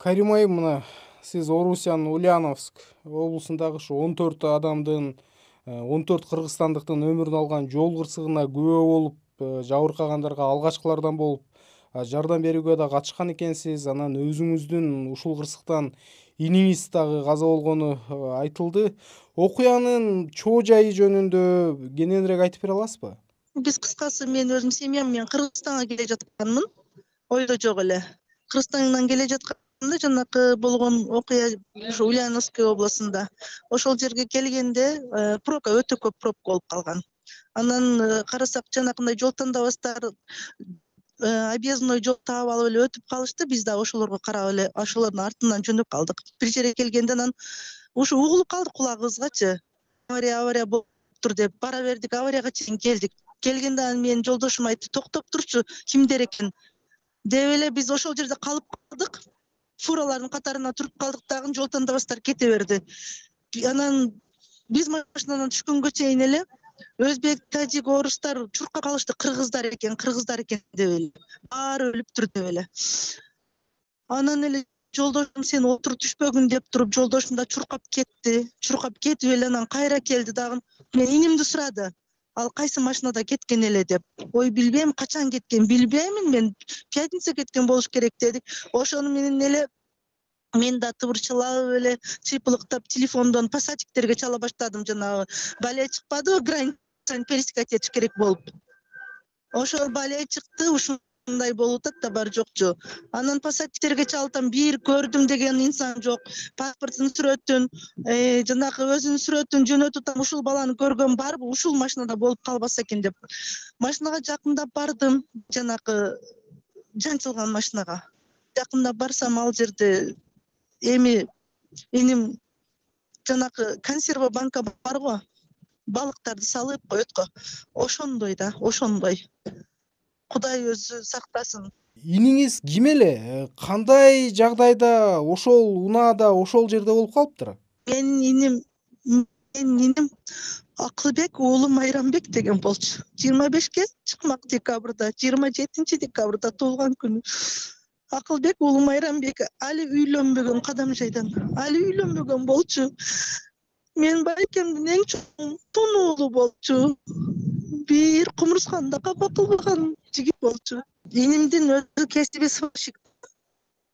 Карим айым, мына сиз Орусиянын Ульяновск облусундагы ушу 14 адамдын 14 кыргызстандыктын өмүрүн алган жол кырсыгына күбө болуп, жабыркагандарга алгачкылардан болуп жардам берүүгө да катышкан экенсиз. Анан өзүңүздүн ушул кырсыктан иниңиз дагы каза болгону айтылды. Окуянын чоо жайы жөнүндө кененирээк айтып бере аласызбы? Биз кыскасы мен өзүм семьям менен Кыргызстанга келе жатканмын. Ойдо жок эле. Кыргызстандан келе жатканда жанакы болгон окуя ушу Ульяновский областында. Ошол жерге келгенде пробка өтө көп пробка болуп калган. Анан карасак жанакындай жол тандабастар объездной жол таап алып эле өтүп калышты. Биз да ошолорго карап эле ошолордун артынан жөнөп калдык. Бир жерге келгенде анан ушу угулуп калдык кулагыбызгачы. Авария болуптур деп бара бердик, аварияга чейин келдик. Келгенде анан менин жолдошум айтты: "Токтоп турчу, кимдер экен?" деп эле биз ошол жерде калып калдык. Фуралардын катарына туруп калдык дагы жол тандабастар кете берди. Анан биз машинадан түшкөнгө чейин эле өзбек, тажик, орустар чуркап калышты. Кыргыздар экен деп эле. Баары өлүптүр деп эле. Анан эле жолдошум сен отуруп түшпөгүн деп туруп, жолдошум да чуркап кетти. Чуркап кетип эле анан кайра келди дагы. Мен инимди сурады. Ал кайсы машинада кеткен эле деп. Ой, билбейм, качан кеткен билбеймин мен. Пятница кеткен болуш керек дедик. Ошону менен эле мен да тыбырчылап эле чыйпылыктап телефондон пассатиктерге чала баштадым. Жанагы балия чыкпадыбы, границаны пересекать этиш керек болуп. Ошол балия чыкты, ушундай болуп атат да бар жокчу. Анан пассатиктерге чалсам бир көрдүм деген инсан жок. Паспорттун сүрөтүн, жанагы өзүнүн сүрөтүн жөнөтүп атам, ушул баланы көргөн барбы, ушул машинада болуп калбаса экен деп. Машинага жакындап бардым, жанагы жанчылган машинага. Жакындап барсам ал жерде иним жанагы консерва банка барго, балыктарды салып коет го. Ошондой да, ошондой. Кудай өзү сактасын. Иниңиз ким эле? Кандай жагдайда ошол унаада, ошол жерде болуп калыптыр? Менин иним Акылбек уулу Майрамбек деген болчу. 25-ке чыкмак декабрда, 27 декабрда туулган күнү. Акылбек уулу Майрамбек али үйлөнбөгөн, кадам жайдан. Али үйлөнбөгөн болчу. Мен байкемдин эң чоң тун уулу болчу. Бир кумурсканда капа кылган жигит болчу. Инимдин өзү кесиби сварщик.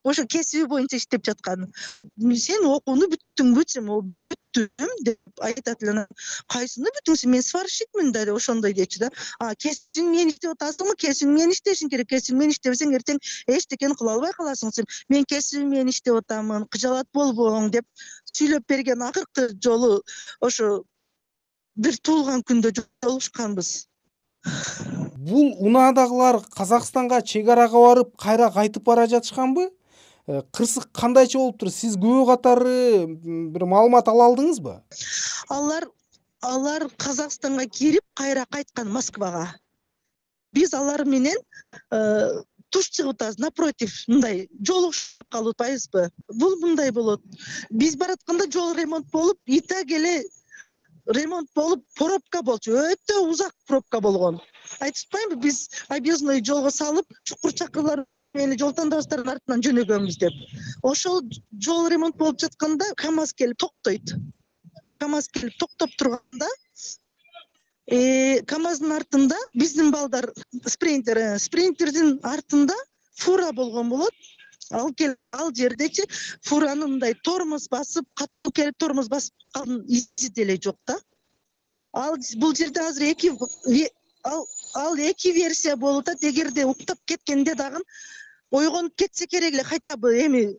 Ошо кесиби боюнча иштеп жаткан. Сен окууну бүттүңбү десем, бүттүм деп айтат эле. Кайсыны бүтүңсүң? Мен сварщикмин да ошондой дечи да. Кесиң менен иштеп атасыңбы? Кесиң менен иштешиң керек. Кесиң менен иштебесең эртең эчтекени кыла албай каласың. Мен кесибим менен иштеп атамын, кыжалат болбоң деп сүйлөп берген. Акыркы жолу ошо бир туулган күндө жолугушканбыз. Бул унаадагылар Казакстанга чек арага барып, кайра кайтып бара жатышканбы? Кырсык кандайча болуптур? Сиз күбө катары бир маалымат ала алдыңызбы? Алар Казакстанга кирип, кайра кайткан Москвага. Биз алар менен туш чыгып атабыз, напротив, мындай жолугушуп калып атпайбызбы? Бул мындай болот. Биз баратканда жол ремонт болуп, итак эле ремонт болуп, пробка болчу. Өтө узак пробка болгон. Айтып атпаймынбы, биз объездной жолго салып, чукур чакырлар менен жол тандабастардын артынан жөнөгөнбүз деп. Ошол жол ремонт болуп жатканда КамАЗ келип токтойт. КамАЗ келип токтоп турганда, КамАздын артында биздин балдар спринтердин артында фура болгон болот. Ал жердечи фуранын мындай тормоз басып, катуу келип тормоз басып калган изи деле жок да. Бул жерде азыр эки версия болуп атат. Эгерде уктап кеткенде дагы ойгонуп кетсе керек эле, хотя бы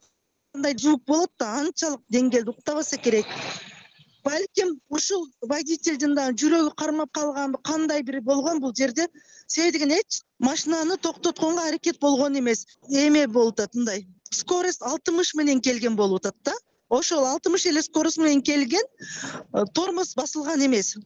кандай звук болот да, анчалык деңгээлде уктабаса керек. Балким ушул водительдин да жүрөгү кармап калганбы, кандай бир болгон бул жерде. Себеби деген машинаны токтотконго аракет болгон эмес. Болуп атат мындай. Скорость 60 менен келген болуп атат да. Ошол 60 эле скорость менен келген, тормоз басылган эмес.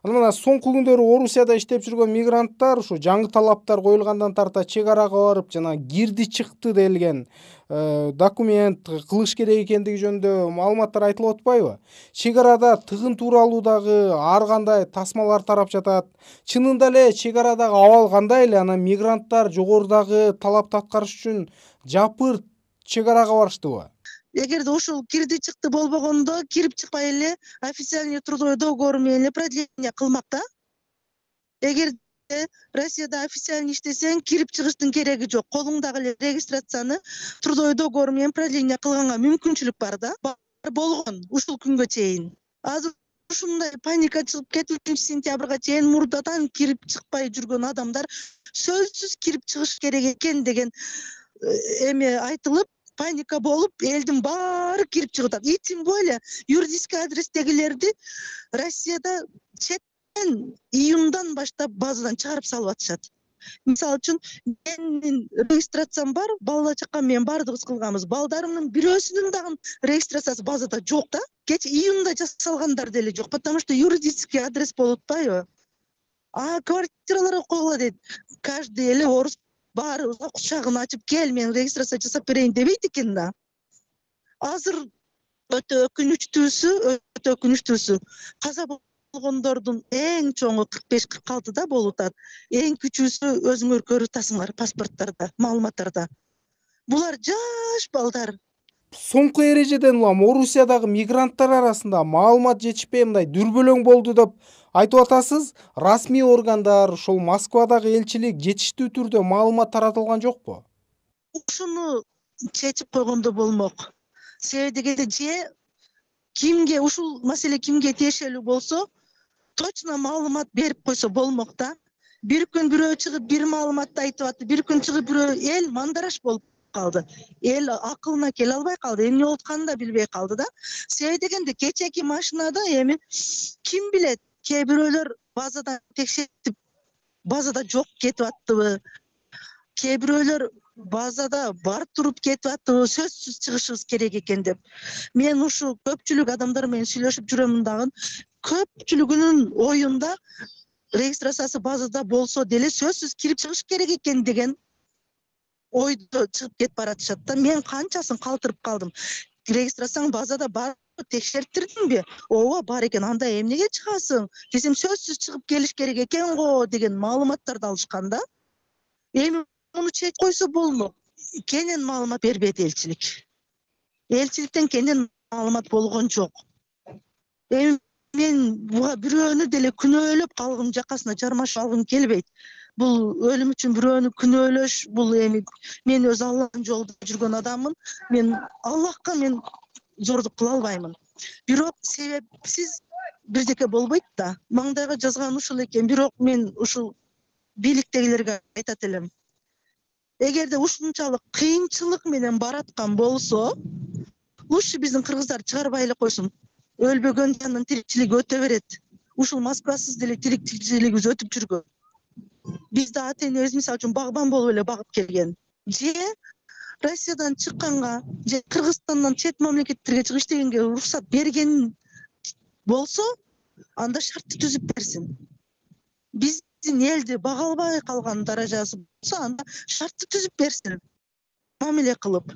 Мына соңку күндөрү Орусияда иштеп жүргөн мигранттар ушу жаңы талаптар коюлгандан тарта чек арага барып, жана кирди чыкты делген документ кылыш керек экендиги жөнүндө маалыматтар айтылып атпайбы? Чек арада тыгын тууралуу дагы ар кандай тасмалар тарап жатат. Чынында эле чек арадагы абал кандай эле? Анан мигранттар жогорудагы талапты аткарыш үчүн жапырт чек арага барыштыбы? Эгерде ушул кирди чыкты болбогондо кирип чыкпай эле официальный трудовой договор менен эле продление кылмак да. Эгерде Россияда официальный иштесең, кирип чыгыштын кереги жок. Колуңдагы эле регистрацияны трудовой договор менен продление кылганга мүмкүнчүлүк бар да. Бар болгон ушул күнгө чейин. Азыр ушундай паника чыгып кетип 3-сентябрга чейин мурдадан кирип чыкпай жүргөн адамдар сөзсүз кирип чыгыш керек экен деген эме айтылып, паника болуп, элдин баары кирип чыгып атат. И тем более юридический адрестегилерди Россияда июндан баштап базадан чыгарып салып атышат. Мисалы үчүн, менин регистрациям бар, бала чакам менен баардыгыбыз кылганбыз. Балдарымдын бирөөсүнүн дагы регистрациясы базада жок да. Кече июнда жасалгандар деле жок, потому что юридический адрес болуп атпайбы? Квартираларга койгула дейт. Каждый эле орус баарыбызга кучагын ачып, кел, мен регистрация жасап берейин дебейт экен да. Азыр өтө өкүнүчтүүсү, каза болгондордун эң чоңу 45-46 болуп атат. Эң кичүүсү өзүңөр көрүп атасыңар паспорттарда, маалыматтарда. Булар жаш балдар. Соңку эрежеден улам Орусиядагы мигранттар арасында маалымат жетишпей мындай дүрбөлөң болду деп айтып атасыз. Расмий органдар, ошол Москвадагы элчилик жетиштүү түрдө маалымат таратылган жокпу? Ушуну чечип койгондо болмок. Себеби дегенде кимге ушул маселе кимге тиешелүү болсо, точно маалымат берип койсо болмок да. Бир күн бирөө чыгып бир маалыматты айтып атты, бир күн чыгып бирөө эл мандараш болуп калды. Эл акылына келе албай калды, эмне болуп атканын да билбей калды да. Себеби дегенде кечеки машинада эми ким билет, кээ бирөөлөр базадан текшертип базада жок кетип аттыбы, кээ бирөөлөр базада бар туруп кетип аттыбы, сөзсүз чыгышыбыз керек экен деп. Мен ушу көпчүлүк адамдар менен сүйлөшүп жүрөмүн дагы. Көпчүлүгүнүн оюнда регистрациясы базада болсо деле сөзсүз кирип чыгыш керек экен деген ойдо чыгып кетип баратышат да. Мен канчасын калтырып калдым. Регистрацияң базада бар, текшерттирдиңби? Ооба, бар экен. Анда эмнеге чыгасың? Десем, сөзсүз чыгып келиш керек экен го деген маалыматтарды алышкан да. Эми муну чечип койсо болмок. Кенен маалымат бербейт элчилик. Элчиликтен кенен маалымат болгон жок. Эми мен буга бирөөнү деле күнөөлөп калгым, жакасына жармашып алгым келбейт. Бул өлүм үчүн бирөөнү күнөөлөш, бул эми мен өз Аллахтын жолунда жүргөн адаммын. Мен Аллахка зордук кыла албаймын. Бирок себепсиз бирдеке болбойт да. Маңдайга жазган ушул экен. Бирок мен ушул бийликтегилерге айтат элем. Эгерде ушунчалык кыйынчылык менен бараткан болсо, лучше биздин кыргыздар чыгарбай эле койсун. Өлбөгөн жанын тирикчилиги өтө берет. Ушул Москвасыз деле тирикчилигибиз өтүп жүргөн. Бизде ата-энебиз мисалы үчүн багбан болуп эле багып келген. Же Россиядан чыкканга, же Кыргызстандан чет мамлекеттерге чыгып иштегенге уруксат берген болсо, анда шартты түзүп берсин. Биздин элди бага албай калган даражасы болсо, анда шартты түзүп берсин. Мамиле кылып.